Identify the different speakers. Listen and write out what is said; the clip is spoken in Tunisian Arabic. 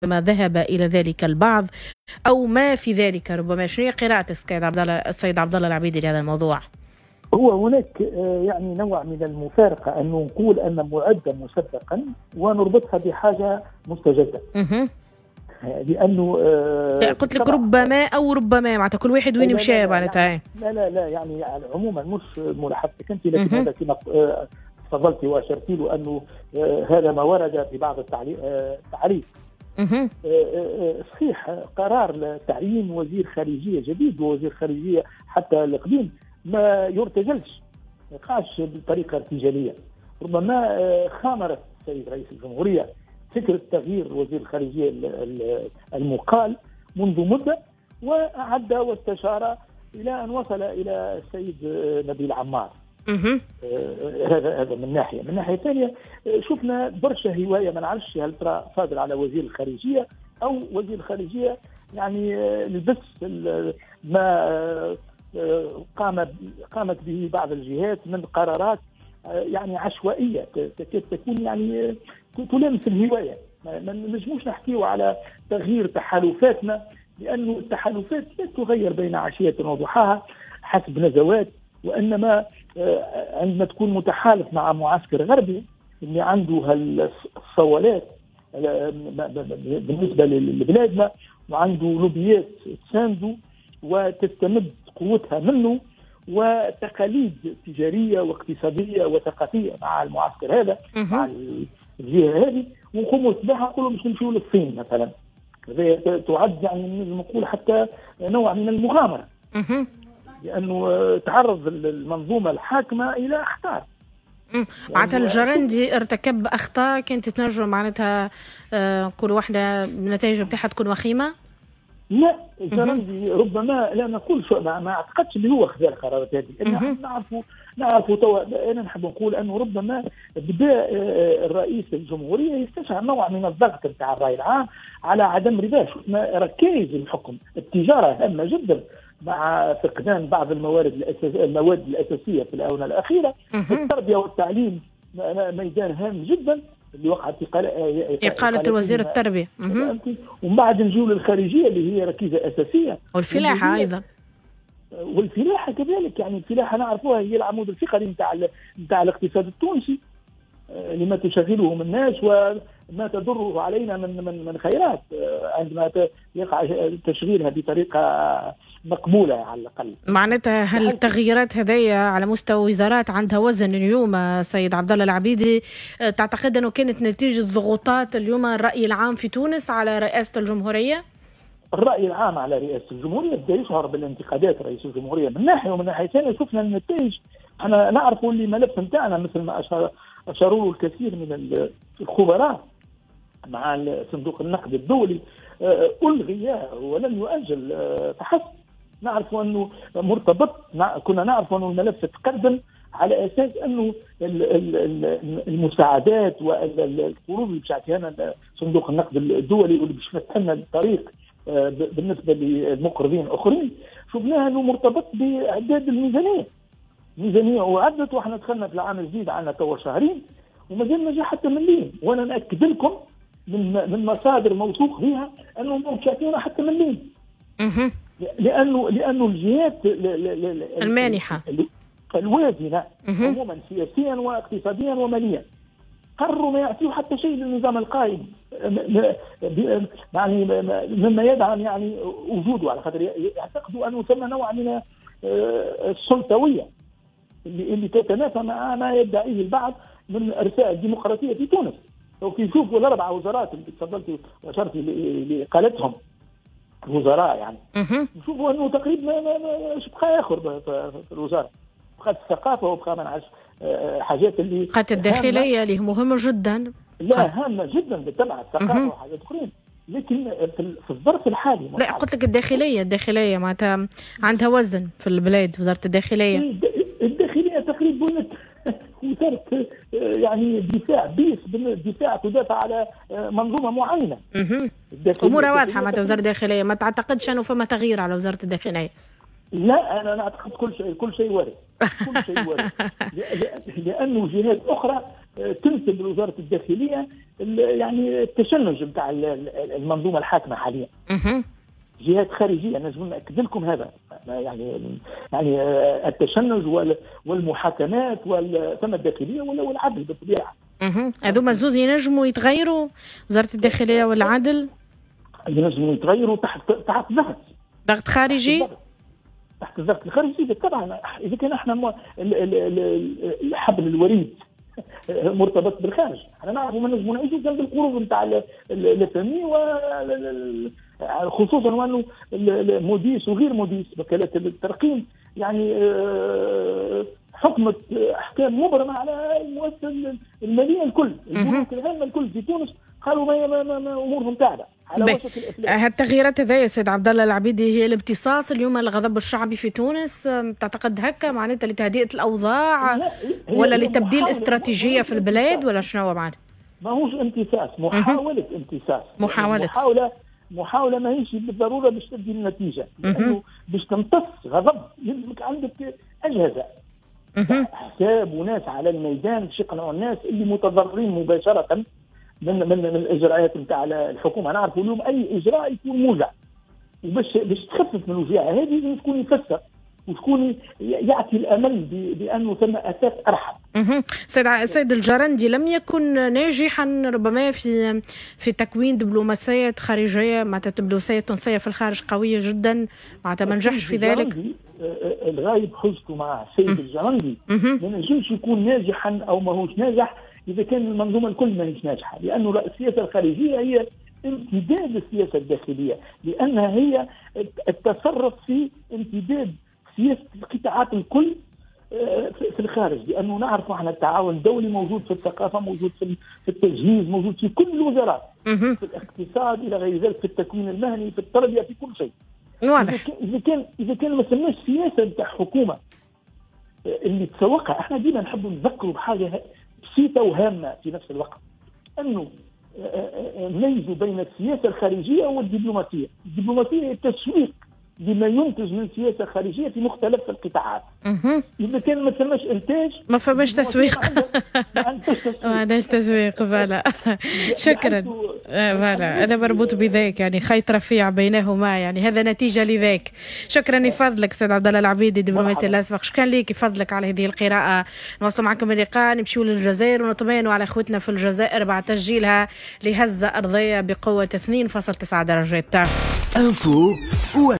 Speaker 1: ربما ذهب إلى ذلك البعض أو ما في ذلك ربما. شنو هي قراءة السيد عبد الله العبيدي لهذا الموضوع؟
Speaker 2: هو هناك يعني نوع من المفارقة أنه نقول أن معدة مسبقا ونربطها بحاجة مستجدة. لأنه
Speaker 1: قلت لك ربما أو ربما معناتها كل واحد وين مشى معناتها.
Speaker 2: لا لا لا يعني عموما مش ملاحظتك أنت، لكن هذا كما تفضلتي وأشرتي له أنه هذا ما ورد في بعض التعليق. صحيح قرار تعيين وزير خارجية جديد ووزير خارجية حتى القديم ما يرتجلش، ما يقعش بطريقة ارتجالية. ربما خامرت السيد رئيس الجمهورية فكرة تغيير وزير الخارجية المقال منذ مدة، وأعد واستشار إلى أن وصل إلى السيد نبيل عمار. هذا من ناحية. من ناحية ثانية شفنا برشا هواية، ما نعرفش هل ترى صادر على وزير الخارجية أو وزير الخارجية يعني لبس ما قامت به بعض الجهات من قرارات يعني عشوائية تكاد تكون يعني تلامس الهواية. ما نجموش نحكيو على تغيير تحالفاتنا، لأنه التحالفات لا تغير بين عشية وضحاها حسب نزوات، وإنما عندما تكون متحالف مع معسكر غربي اللي عنده هالصوالات بالنسبة لبلادنا وعنده لوبيات تسانده وتستمد قوتها منه وتقاليد تجارية واقتصادية وثقافية مع المعسكر هذا مع الجهة هذه، ونقوموا بها نقولوا باش نمشيو للصين مثلا. هذا تعد يعني نقول حتى نوع من المغامرة، لأنه تعرض المنظومة الحاكمة إلى أخطار.
Speaker 1: معناتها الجرندي ارتكب أخطاء كانت تنجم معناتها كل واحدة النتائج نتاعها تكون وخيمة؟
Speaker 2: لا الجرندي ربما لا نقول شو ما اعتقدش اللي هو خذا القرارات هذه. نعرفوا توا. انا نحب نقول انه ربما بدا الرئيس الجمهورية يستشعر نوع من الضغط نتاع الراي العام على عدم رضاه. شفنا ركائز الحكم، التجارة هامة جدا مع فقدان بعض المواد الاساسية في الاونة الاخيرة. التربية والتعليم ميدان هام جدا اللي وقعت
Speaker 1: إقالة وزير التربية.
Speaker 2: ومن بعد نجيو للخارجية اللي هي ركيزة أساسية،
Speaker 1: والفلاحة أيضا.
Speaker 2: والفلاحة كذلك، يعني الفلاحة نعرفوها هي العمود الفقري نتاع الاقتصاد التونسي، لما تشغله من الناس وما تضره علينا من خيرات عندما يقع تشغيلها بطريقة مقبولة على الأقل.
Speaker 1: معناتها هل التغييرات هذيا على مستوى وزارات عندها وزن اليوم سيد عبد الله العبيدي؟ تعتقد أنه كانت نتيجة ضغوطات اليوم الرأي العام في تونس على رئاسة الجمهورية؟
Speaker 2: الرأي العام على رئاسة الجمهورية بدا يشعر بالانتقادات رئيس الجمهورية من ناحية، ومن ناحية ثانية شفنا النتائج. احنا نعرفوا اللي ملف نتاعنا مثل ما أشاروا له الكثير من الخبراء مع صندوق النقد الدولي ألغي ولم يؤجل فحسب. نعرف أنه مرتبط، كنا نعرف أنه الملف تقدم على أساس أنه المساعدات والقروض اللي باش يعطيها صندوق النقد الدولي واللي باش يفتح لنا الطريق بالنسبة للمقرضين الآخرين، شفناها أنه مرتبط بإعداد الميزانية. الميزانية وعدت واحنا دخلنا في العام الجديد، عندنا توا شهرين ومازال ما جا حتى مليم. وانا ناكد لكم من مصادر موثوق بها انه مش يعطيونا حتى مليم. لانه الجهات
Speaker 1: المانحه
Speaker 2: الوازنه عموما سياسيا واقتصاديا وماليا قرروا ما يعطيوا حتى شيء للنظام القائم، يعني مما يدعم يعني وجوده، على خاطر يعتقدوا انه ثم نوع من السلطويه اللي تتنافى مع ما يدعيه البعض من ارساء الديمقراطية في تونس. لو يشوفوا الاربع وزارات اللي تفضلتي واشرتي لاقالتهم الوزراء، يعني نشوفوا انه تقريبا ما بقى اخر في الوزارة، بقات الثقافة وبقى ما نعرفش حاجات اللي
Speaker 1: بقات الداخلية اللي مهمة جدا.
Speaker 2: لا هامة جدا بالطبع الثقافة وحاجات اخرين، لكن في الظرف الحالي
Speaker 1: لا قلت لك الداخلية معناتها عندها وزن في البلاد، وزارة الداخلية.
Speaker 2: الداخلية تقريبا وزارة يعني دفاع، بيس بالدفاع تدافع على منظومة معينة.
Speaker 1: امورها واضحة معناتها وزارة الداخلية، ما تعتقدش انه فما تغيير على وزارة الداخلية؟
Speaker 2: لا انا اعتقد كل شيء وارد، كل شيء وارد لانه جهات اخرى تنسب لوزارة الداخلية يعني التشنج نتاع المنظومة الحاكمة حاليا. جهات خارجية نجم ناكد لكم هذا، يعني التشنج والمحاكمات ثم الداخلية والعدل بالطبيعة.
Speaker 1: هذوما زوز ينجموا يتغيروا، وزارة الداخلية والعدل
Speaker 2: ينجموا يتغيروا تحت ضغط،
Speaker 1: ضغط خارجي،
Speaker 2: تحت الضغط الخارجي بالطبع. اذا كان احنا الحبل الوريد مرتبط بالخارج، احنا نعرفوا ما نجموا نعيشوا كان بالقروض نتاع ال FMI، خصوصا وانه موديس وغير موديس وكالات الترقيم يعني حكمت احكام مبرمه على المؤسسة المالية الكل، البنوك العامة الكل في تونس قالوا ما امورهم تعبه على وشك الافلاس.
Speaker 1: هالتغييرات هذه سيد عبد الله العبيدي هي الامتصاص اليوم الغضب الشعبي في تونس، تعتقد هكا معناتها لتهدئه الاوضاع ولا لتبديل استراتيجية في البلاد ولا شنو معناتها؟
Speaker 2: ماهوش امتصاص، محاولة امتصاص، محاولة ماهيش بالضرورة باش تدي النتيجة، لانه باش تمتص غضب يلزمك عندك اجهزة حساب وناس على الميدان باش يقنعوا الناس اللي متضررين مباشرة من الاجراءات نتاع الحكومة. نعرفوا اليوم اي اجراء يكون موجع، وباش تخفف من الوجيعه هذه لازم تكون يفسر وتكون يعطي الامل بانه ثم اساس ارحب.
Speaker 1: سيد الجرندي لم يكن ناجحا ربما في تكوين دبلوماسية خارجية، معناتها دبلوماسية تونسية في الخارج قوية جدا، معناتها ما نجحش في ذلك.
Speaker 2: الغايب حجته مع السيد الجرندي ما نجمش يكون ناجحا او ماهوش ناجح اذا كان المنظومة الكل ماهيش ناجحة، لانه السياسة الخارجية هي امتداد السياسة الداخلية، لانها هي التصرف في امتداد سياسة القطاعات الكل في الخارج، لانه نعرف احنا التعاون الدولي موجود في الثقافة، موجود في التجهيز، موجود في كل الوزارات، في الاقتصاد الى غير ذلك، في التكوين المهني، في التربية، في كل شيء.
Speaker 1: واضح.
Speaker 2: اذا كان ما سماش سياسة نتاع حكومة اللي تسوقها، احنا ديما نحبوا نذكروا بحاجة بسيطة وهامه في نفس الوقت، انه نميزوا بين السياسة الخارجية والدبلوماسية. الدبلوماسية هي التسويق لما ينتج من سياسة خارجية في مختلف القطاعات. اذا كان ما ثماش انتاج
Speaker 1: ما فماش تسويق، ما عندناش تسويق. voilà، شكرا. voilà، هذا مربوط بذاك، يعني خيط رفيع بينهما، يعني هذا نتيجة لذاك. شكرا لفضلك سيد عبد الله العبيدي الدبلوماسي الاسبق، شكرا لك فضلك على هذه القراءة. نواصل معكم اللقاء، نمشيو للجزائر ونطمئنوا على اخوتنا في الجزائر بعد تسجيلها لهزه ارضية بقوة 2.9 درجات.